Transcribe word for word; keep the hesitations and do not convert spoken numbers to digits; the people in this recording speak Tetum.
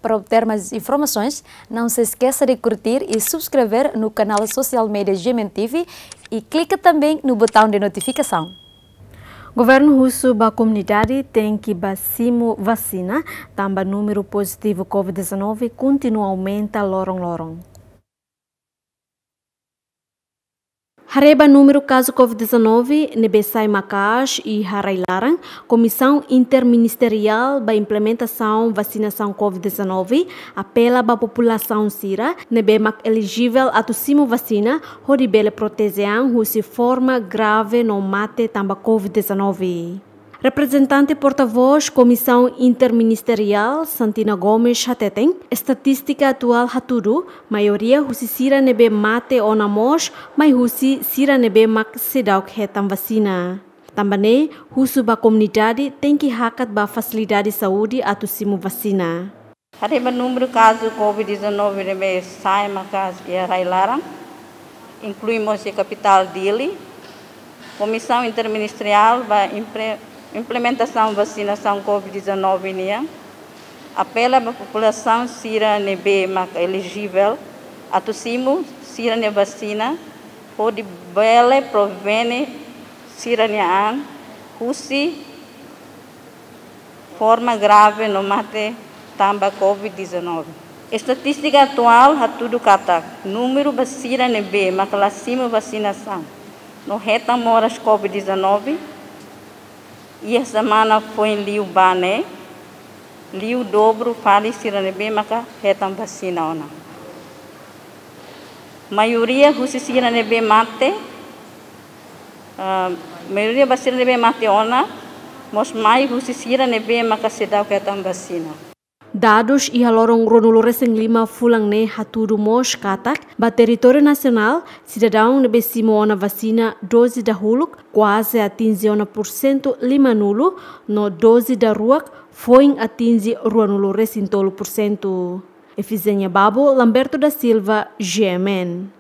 Para obter mais informações, não se esqueça de curtir e subscrever no canal social media G M N T V e clica também no botão de notificação. Governu husu ba komunidade tenke bá simu vasina, tanba númeru pozitivu covid dezanove kontinua aumenta loron-loron. Haree ba númeru kazu covid dezanove ne'ebé sai maka'as iha rai-laran, Komisaun Interministeriál ba Implementasaun Vasinasaun covid dezanove apela ba populasaun sira ne'ebé mak elijivel atu simu vasina, hodi bele proteje an husi forma grave no mate tanba covid dezanove. Reprezentante portavós Komisaun Interministeriál, Santina Gomes, hateten, estatístika atuál hatudu, maioria husi sira ne'ebé mate ona mós mai husi sira ne'ebé mak seidauk hetan vasina. Tanba ne'e, husu ba komunidade tenke hakat ba fasilidade saúde atu simu vasina. Haree ba númeru kazu covid dezanove ne'ebé sai maka'as iha rai-laran, inklui mós iha kapitál Dili, Komisaun Interministeriál ba Impre-, Implementasaun Vasinasaun covid dezanove nian apela ba populasaun sira ne'ebé mak elijivel atu simu sira-nia vasina, hodi bele prevene sira-nia an husi forma grave no mate tanba covid dezanove. Estatístika atuál hatudu katak númeru ba sira ne'ebé mak la simu vasinasaun no hetan moras covid dezanove iha semana foin liubá ne'e liu dobru fali sira ne'ebé maka hetan vasina ona. Maioria husi sira ne'ebé mate, ah, maioria ba sira ne'ebé mate ona mós mai husi sira ne'ebé maka seidauk hetan vasina. Dadus iha loron ruanulu-resin-lima fulan ne'e hatudu mós katak, ba territóriu nasionál, sidadaun ne'ebé simu ona vasina doze dahuluk kuaze atinje ona pursentu limanulu, no doze daruak foin atinje ruanulu-resin-tolu pursentu. Efizénia Babo, Lamberto da Silva, G M N.